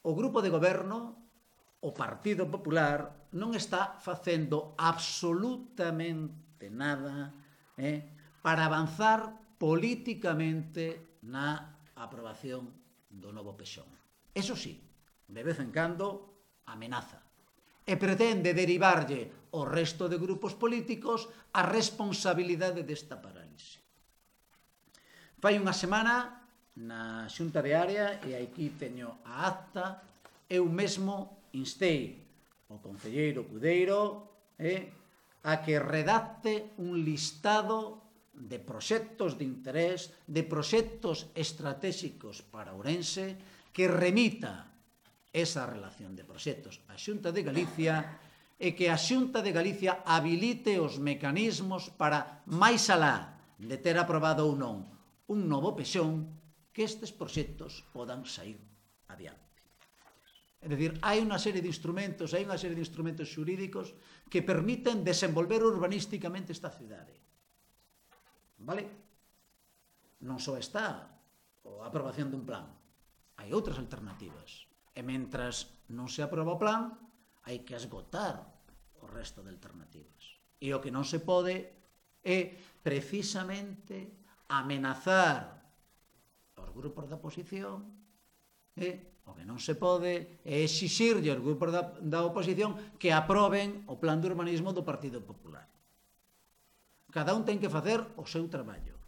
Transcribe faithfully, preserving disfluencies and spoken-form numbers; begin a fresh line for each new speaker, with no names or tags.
o grupo de goberno, o Partido Popular, non está facendo absolutamente nada eh, para avanzar políticamente na aprobación do novo pexón. Eso sí, de vez en cando amenaza e pretende derivarlle ao resto de grupos políticos a responsabilidade desta parálise. Fai unha semana, na Xunta de Área, e aquí teño a acta, eu mesmo instei o concelleiro Cudeiro eh, a que redacte un listado de proxectos de interés, de proxectos estratégicos para Ourense, que remita esa relación de proxectos á Xunta de Galicia e que a Xunta de Galicia habilite os mecanismos para, máis alá de ter aprobado ou non un novo pexón, que estes proxectos podan sair adiante. É dicir, hai unha serie de instrumentos, hai unha serie de instrumentos xurídicos que permiten desenvolver urbanísticamente esta cidade. Vale? Non só está a aprobación dun plan, hai outras alternativas. E mentras non se aproba o plan, hai que esgotar o resto de alternativas. E o que non se pode é precisamente amenazar aos grupos da oposición, e o que non se pode é exixirlle aos grupos da, da oposición que aproben o plan de urbanismo do Partido Popular. Cada un ten que facer o seu traballo.